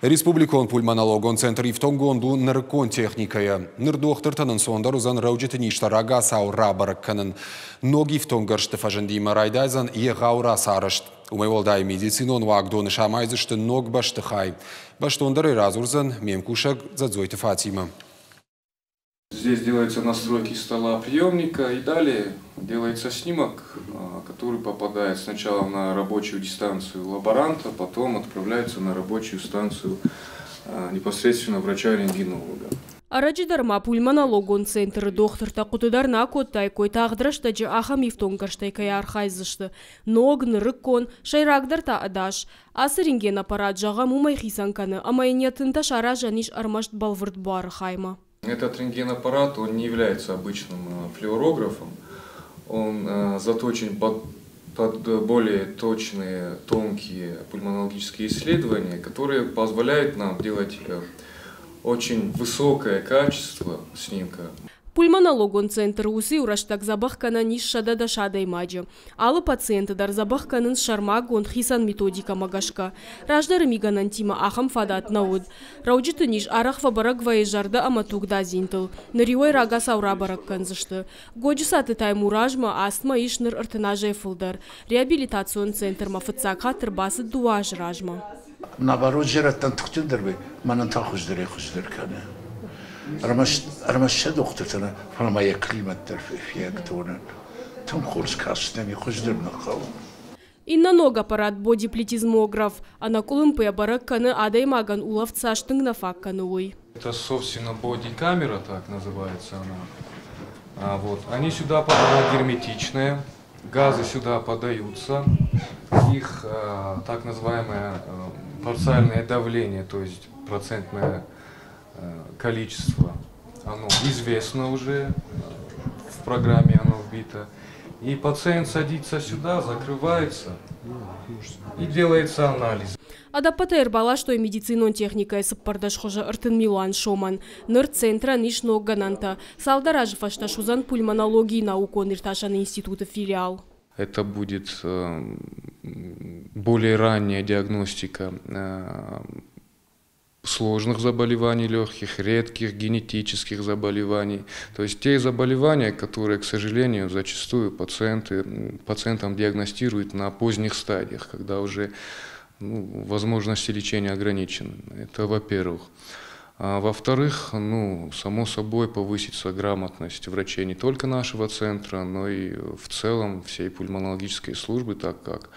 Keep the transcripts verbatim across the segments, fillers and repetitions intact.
Республикон пульмонологон центр ифтонггонд у нырыккон техникӕйӕ. Ныр дохтыртӕн ӕнцондӕр уыдзӕн рӕуджыты низтӕ рагацау рабӕрӕг кӕнын. Ног ифтонггӕрзты фӕзындимӕ райдайдзӕн егъау рацарӕзт. Уымӕй уӕлдай медицинон уагдоны самайдзысты ног бӕстыхай. Бӕстондӕрӕй радзурдзӕн ме мкусӕг Дзӕдзойты Фатимӕ. Здесь делаются настройки стола приемника, и далее делается снимок, который попадает сначала на рабочую дистанцию лаборанта, потом отправляется на рабочую станцию непосредственно врача-рентгенолога. Ӕрӕджы дӕр ма пульмонологон центры дохтыртӕ хъуыды дӕр нӕ акодтаиккой, тагъд рӕстӕджы ахӕм ифтонггӕрзтӕй кӕй архайдзысты. Ног, нырыккон, сӕйрагдӕр та ӕдас. Ацы рентгенаппарат, зӕгъӕм, уымӕй хицӕн кӕны, ӕмӕ йын йӕ тынтӕ саразӕн ис ӕрмӕст бӕлвырд буары хаймӕ. Этот рентгенаппарат, он не является обычным флюорографом, он заточен под, под более точные, тонкие пульмонологические исследования, которые позволяют нам делать очень высокое качество снимка. Пульмонологон центры уыцы иу рӕстӕг дзӕбӕх кӕнӕн ис сӕдӕ дӕс адӕймаджы. Алы пациенты дӕр дзӕбӕх кӕнынц сӕрмагонд хицӕн методикӕмӕ гӕсгӕ. Раздӕры мигӕнӕнтимӕ ахӕм фадат нӕ уыд. Рӕуджыты низ арӕх фӕбӕрӕг вӕййы зӕрдӕ ӕмӕ тугдадзинтыл. Ныр иуӕй рагацау рабӕрӕг кӕндзысты. Годжысаты Таймуразмӕ астмӕ ис ныр ӕртын азӕй фылдӕр. Реабилитацион центрмӕ фыццаг хатт ӕрбацыд дыууӕ азы размӕ. Наоборот, зӕрӕдтӕн тыхджындӕр вӕййы, мӕнӕн та хуыздӕрӕй хуыздӕр кӕны. Ӕрмӕст сӕ дохтыртӕ нӕ, фӕлӕ ма йӕ климат дӕр фиӕгтонӕн. Тынг хорз каст нӕм, хуыздӕр нӕ хъӕуы. Иннӕ ног аппарат бодиплетизмограф ӕнӕкъуылымпыйӕ бӕрӕг кӕны, адӕймагӕн улӕфт цас тынг нӕ фаг кӕны, уый. Это, собственно, бодикамера, так называется она. А, вот. Они сюда, она герметичная, газы сюда подаются, их э, так называемое э, парциальное давление, то есть процентное э, количество, оно известно уже, в программе оно вбито. И пациент садится сюда, закрывается и делается анализ. Ӕдӕппӕтӕй ӕрбаластой медицинон техникӕйы цыппӕрдӕс хуызы ӕртын милуан сомӕн. Ныр центрӕн ис ног гӕнӕнтӕ. Цалдӕр азы фӕстӕ суыдзӕн пульмонологийы наукон-иртасӕн институты филиал. Это будет более ранняя диагностика сложных заболеваний легких, редких генетических заболеваний. То есть те заболевания, которые, к сожалению, зачастую пациенты, пациентам диагностируют на поздних стадиях, когда уже, ну, возможности лечения ограничены. Это во-первых. А во-вторых, ну, само собой, повысится грамотность врачей не только нашего центра, но и в целом всей пульмонологической службы, так как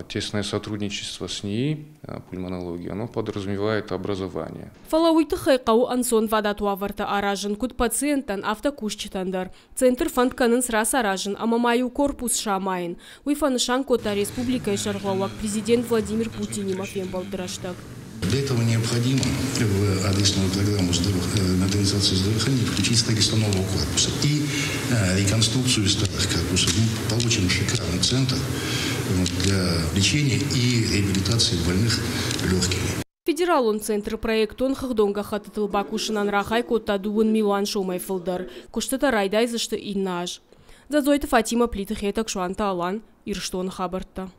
тесное сотрудничество с НИИ пульмонологии, оно подразумевает образование. Фӕлӕ уый тыххӕй хъӕуы ӕнцонвадат уавӕртӕ аразын куыд пациенттӕн, афтӕ кусджытӕн дӕр. Центр фӕнд кӕнынц рацаразын ӕмӕ ма иу корпус самайын. Уый фӕнысан кодта республикӕйы сӕргълӕууӕг президент Владимир Путинимӕ фембӕлды рӕстӕг. Для этого необходимо в адресную программу модернизации здравоохранения включить строительство нового корпуса и реконструкцию старых корпусов. Мы получим шикарный центр для лечения и реабилитации больных легкими. Федералон центры проектон хыгъдон гӕххӕттытыл бакусынӕн рахай кодта дыууын милуан сомӕй фылдӕр. Куыстытӕ райдайдзысты иннӕ аз. Дзӕдзойты Фатимӕ, Плиты Хетӕг, Суанты Алан, Ирыстоны хабӕрттӕ.